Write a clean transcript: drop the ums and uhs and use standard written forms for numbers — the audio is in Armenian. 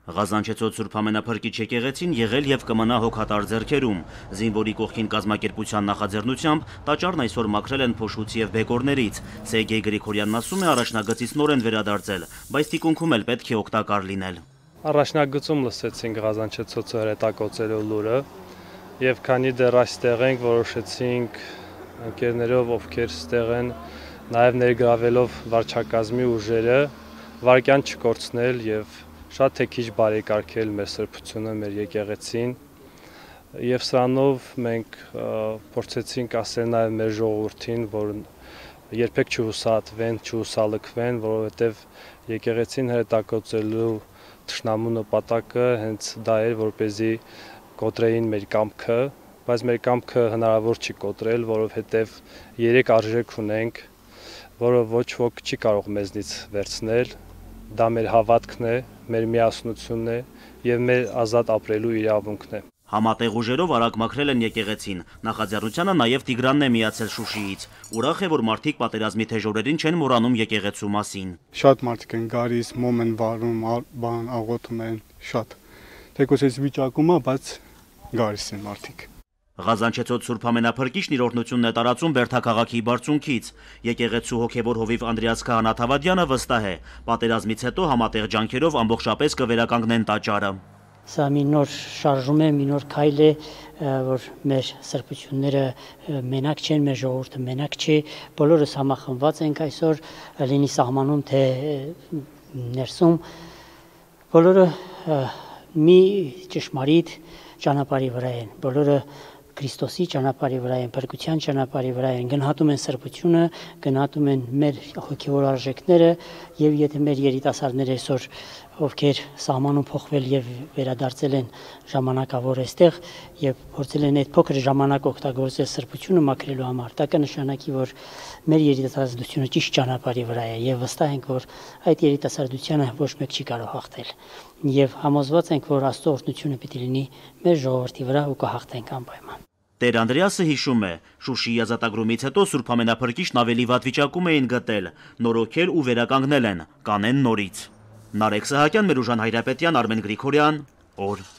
Ղազանչեցոտ Սուրբ Ամենափրկիչ եկեղեցին եղել եւ կմնա հոգատար ձեռքերում։ Զինվորի կողքին կազմակերպության նախաձեռնությամբ տաճարն այսօր մաքրել են փոշուց եւ բեկորներից։ Սերգեյ Գրիգորյանն ասում է, առաջնագծից նոր են վերադարձել, բայց թիկունքում էլ պետք է օգտակար լինել։ Առաջնագծում լսեցինք Ղազանչեցոցը հրետակոծելու լուրը եւ քանի դեռ այստեղ ենք, որոշեցինք ընկերներով, ովքեր ստեղ են, նաեւ ներգրավելով վարչակազմի ուժերը, վարկյան չկորցնել եւ շատ թե քիչ բարեկարգել մեր սրբությունը, մեր եկեղեցին եւ սրանով մենք փորձեցինք ասել նաեւ մեր ժողովրդին, որ երբեք չհուսահատվեն, չհուսալքվեն, որովհետեւ եկեղեցին հրետակոծելու թշնամու նպատակը հենց դա էր, որպեսզի կոտրեին մեր կամքը, բայց մեր կամքը հնարավոր չի կոտրել, որովհետեւ 3 արժեք ունենք, որը ոչ ոք չի կարող մեզնից վերցնել։ Դա մեր հավատքն է, մեր միասնությունն է եւ մեր ազատ ապրելու իրավունքն է։ Համատեղ ուժերով արագ մաքրել են եկեղեցին։ Նախաձեռնությանը նաեւ Տիգրանն է միացել Շուշիից։ Ուրախ է, որ մարդիկ պատերազմի թեժ օրերին չեն մոռանում եկեղեցու մասին։ Շատ մարդիկ են գալիս, մոմ են վառում, աղոթում են, շատ։ Թեկուզ այս վիճակում է, բայց գալիս են մարդիկ։ Ղազանչեցոտ Սուրբ Ամենափրկիչն իր օրհնությունն է տարածում Բերդաքաղաքի բարձունքից։ Եկեղեցու հոգևոր հովիվ Անդրեաս Քահանաթավադյանը վստահ է, պատերազմից հետո համատեղ ջանքերով ամբողջապես կվերականգնեն տաճարը։ Սա մի նոր շարժում է, մի նոր քայլ է, որ մեր սրբությունները մենակ չեն, մեր ժողովուրդը մենակ չի, բոլորս համախմբված ենք այսօր, լինի սահմանում թե ներսում, բոլորը մի ճշմարիտ ճանապարհի վրա են, բոլորը Քրիստոսի ճանապարհի վրա են, փրկության ճանապարհի վրա են, գնահատում են սրբությունը, գնահատում են մեր հոգևոր արժեքները եւ եթե մեր երիտասարդները այսօր ովքեր սահմանում փոխվել եւ վերադարձել են ժամանակավոր այստեղ եւ փորձել են այդ փոքր ժամանակ օգտագործել սրբությունը մաքրելու համար, դա կնշանակի, որ մեր երիտասարդությունը ճիշտ ճանապարհի վրա է եւ վստահ ենք, որ այդ երիտասարդությանը ոչ մեկ չի կարող հաղթել եւ համոզված ենք, որ Աստծո օրհնությունը պիտի լինի մեր ժողովրդի վրա ու կհաղթենք անպայման։ Տեր Անդրեասը հիշում է, Շուշիի ազատագրումից հետո Սուրբ Ամենափրկիչն ավելի վատ վիճակում էին գտել, նորոգել ու վերականգնել են, կանեն նորից։ Նարեկ Սահակյան, Մերուժան Հայրապետյան, Արմեն Գրիգորյան, օր։